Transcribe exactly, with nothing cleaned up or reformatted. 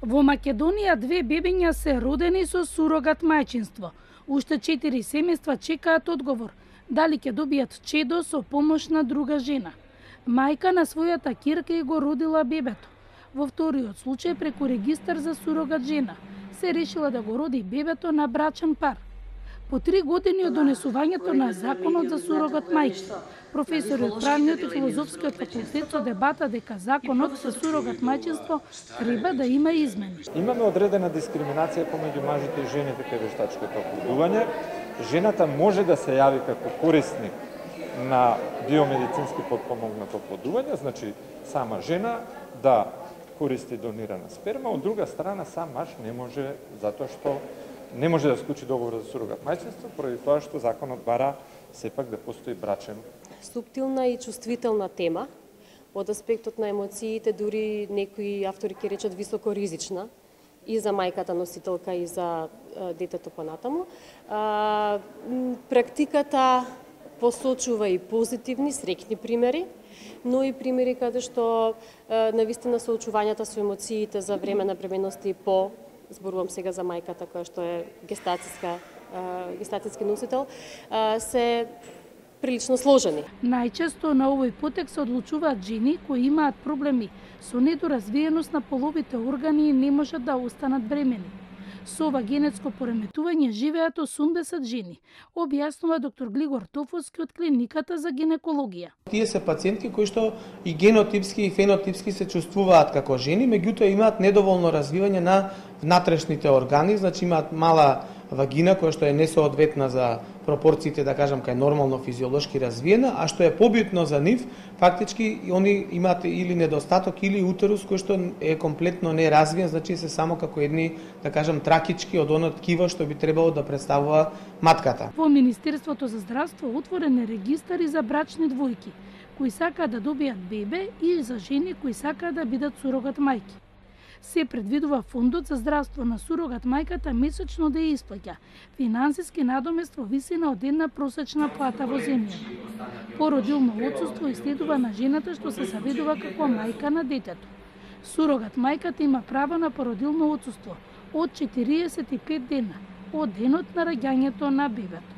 Во Македонија две бебиња се родени со сурогат мајчинство. Уште четири семејства чекаат одговор дали ќе добијат чедо со помош на друга жена. Мајка на својата ќерка и го родила бебето. Во вториот случај преку регистар за сурогат жена се решила да го роди бебето на брачен пар. По три години од донесувањето на законот за сурогат мајки, професори од правниот и филозофскиот факултет со дебата дека законот за сурогат мајчинство треба да има измени. Имаме одредена дискриминација помеѓу мажите и жените кај вештачкото оплодување. Жената може да се јави како корисник на биомедицински потпомогнато оплодување, значи сама жена да користи донирана сперма, од друга страна сам маж не може, затоа што не може да склучи договор за сурогат мајчинство, поради тоа што законот бара сепак да постои брачен. Суптилна и чувствителна тема, од аспектот на емоциите, дури некои автори ќе речат високо ризична, и за мајката носителка и за детето понатаму. А, практиката посочува и позитивни, среќни примери, но и примери каде што навистина соочувањата со емоциите за време на бременност и по, зборувам сега за мајката која што е гестацијска, гестацијски носител, се прилично сложени. Најчесто на овој потек се одлучуваат жени кои имаат проблеми со недоразвиеност на половите органи и не можат да останат бремени. Со ова генетско пореметување живеат осумдесет жени, објаснува доктор Глигор Тофовски од клиниката за гинекологија. Тие се пациентки кои што и генотипски и фенотипски се чувствуваат како жени, меѓутоа имаат недоволно развивање на внатрешните органи, значи имаат мала вагина која што е несоодветна за пропорциите, да кажам, кај нормално физиолошки развиена, а што е побитно за нив, фактички они имаат или недостаток или утерус кој што е комплетно неразвиен, значи се само како едни, да кажам, тракички од оно ткиво што би требало да представува матката. Во Министерството за здравство отворен е регистари за брачни двојки кои сакаат да добијат бебе и за жени кои сакаат да бидат сурогат мајки. Се предвидува фондот за здравство на сурогат мајката месечно да ја исплаќа финансиски надомест во висина од една просечна плата во земјата. Породилно отсуство следува на жената што се заведува како мајка на детето. Сурогат мајката има право на породилно отсуство од четириесет и пет дена од денот на раѓањето на бебето.